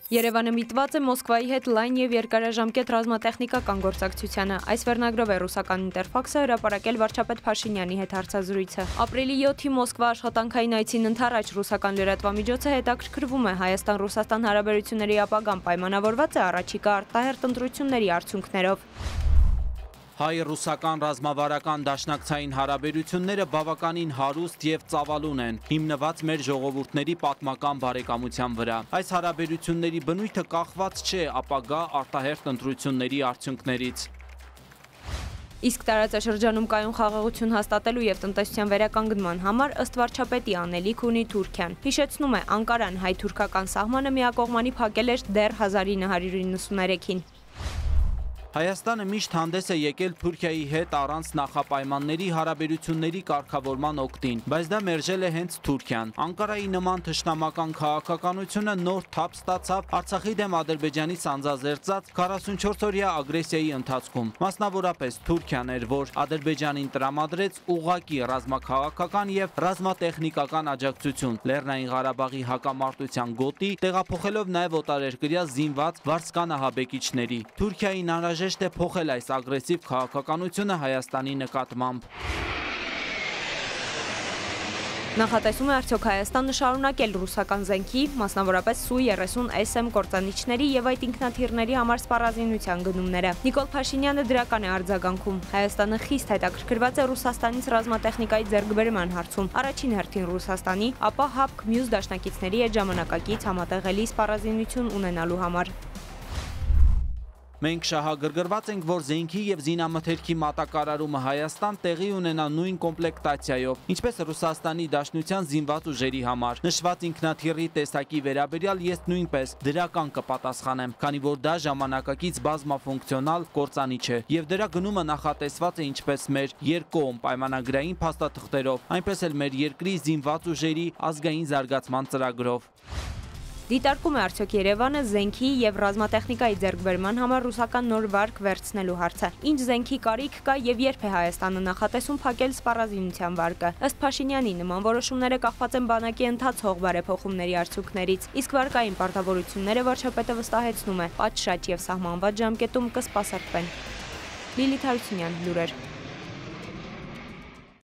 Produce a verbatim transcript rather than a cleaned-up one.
Երևանը միտված է Մոսկվայի հետ լայն և երկարաժամկետ ռազմատեխնիկական գործակցությանը։ Այս վերնագրով է ռուսական ինտերֆաքսը հրապարակել վարչապետ Փաշինյանի հետ հարցազրույցը։ Ապրիլի յոթի Մոսկվա աշխատանքային այցին ընդառաջ ռուսական լրատվամիջոցը հետաքրքրվում է Հայաստան-Ռուսաստան հարաբերությունների ապագան պայմանավորված է առաջիկա արտահերթ ընտրությունների արդյունքներով։ Հայ-ռուսական ռազմավարական դաշնակցային հարաբերությունները բավականին հարուստ և ծավալուն են, հիմնված մեր ժողովուրդների պատմական բարեկամության վրա։ Այս հարաբերությունների բնույթը կախված չէ ապագա արտահերթ ընտրությունների արդյունքներից։ Իսկ տարածաշրջանում կայուն խաղաղություն հաստատելու և տնտեսության վերականգնման համար ըստ վարչապետի անելիք ունի Թուրքիան։ Հիշեցնում է, Անկարան հայ-թուրքական սահմանը միակողմանի փակել էր դեռ հազար ինը հարյուր իննսուններեքին։ Հայաստանը միշտ հանդես է եկել Թուրքիայի հետ առանց նախապայմանների հարաբերությունների կարգավորման օգտին, բայց դա մերժել է հենց Թուրքիան։ Անկարայի նման թշնամական քաղաքականությունը նոր թափ ստացավ Արցախի դեմ Ադրբեջանի սանձազերծած քառասունչորսօրյա ագրեսիայի ընթացքում։ Մասնավորապես Թուրքիան էր, որ Ադրբեջանին տրամադրեց ուղղակի ռազմաքաղաքական և ռազմատեխնիկական աջակցություն Լեռնային Ղարաբաղի հակամարտության գոտի, տեղափոխելով նաև օտարերկրյա զինված վարձկանահաբեկիչների։ Թուրքիային անհրաժեշտ է փոխել այս ագրեսիվ քաղաքականությունը Հայաստանի նկատմամբ։ Նախատեսում է արդյոք Հայաստանը շարունակել ռուսական զենքի, մասնավորապես Սու երեսուն էս էմ կործանիչների և այդ ինքնաթիռների համար սպառազինության գնումները։ Նիկոլ Փաշինյանը դրական է արձագանքում։ Հայաստանը խիստ հետաքրքրված է Ռուսաստանից ռազմատեխնիկայի ձեռքբերման հարցում, առաջին հերթին Ռուսաստանի, ապա ՀԱՊԿ մյուս դաշնակիցների հետ ժամանակակից համատեղելի սպառազինություն ունենալու համար։ Մենք շահագրգռված ենք, որ զենքի և զինամթերքի մատակարարումը Հայաստան տեղի ունենա նույն կոմպլեկտացիայով, ինչպես Ռուսաստանի Դաշնության զինված ուժերի համար։ Նշված ինքնաթիռի տեսակի վերաբերյալ ես նույնպես դրական կպատասխանեմ, քանի որ դա ժամանակակից բազմաֆունկցիոնալ կործանիչ է, և դրա գնումը նախատեսված է ինչպես մեր երկկողմ պայմանագրային փաստաթղթերով, այնպես էլ մեր երկրի զինված ուժերի ազգային զարգացման ծրագրով։ Դիտարկում է արդյոք Երևանը զենքի և ռազմատեխնիկայի ձեռքբերման համար ռուսական նոր վարկ վերցնելու հարցը։ Ինչ զենքի կարիք կա և երբ է Հայաստանը նախատեսում փակել սպառազինության վարկը։ Ըստ Փաշինյանի, նման որոշումները կախված են բանակի ընթացող բարեփոխումների արդյունքներից, իսկ վարկային պարտավորությունները վարչապետը վստահեցնում է, պատշաճ և սահմանված ժամկետում կսպասարկվեն։ Լիլիթ Հարությունյան, լուրեր։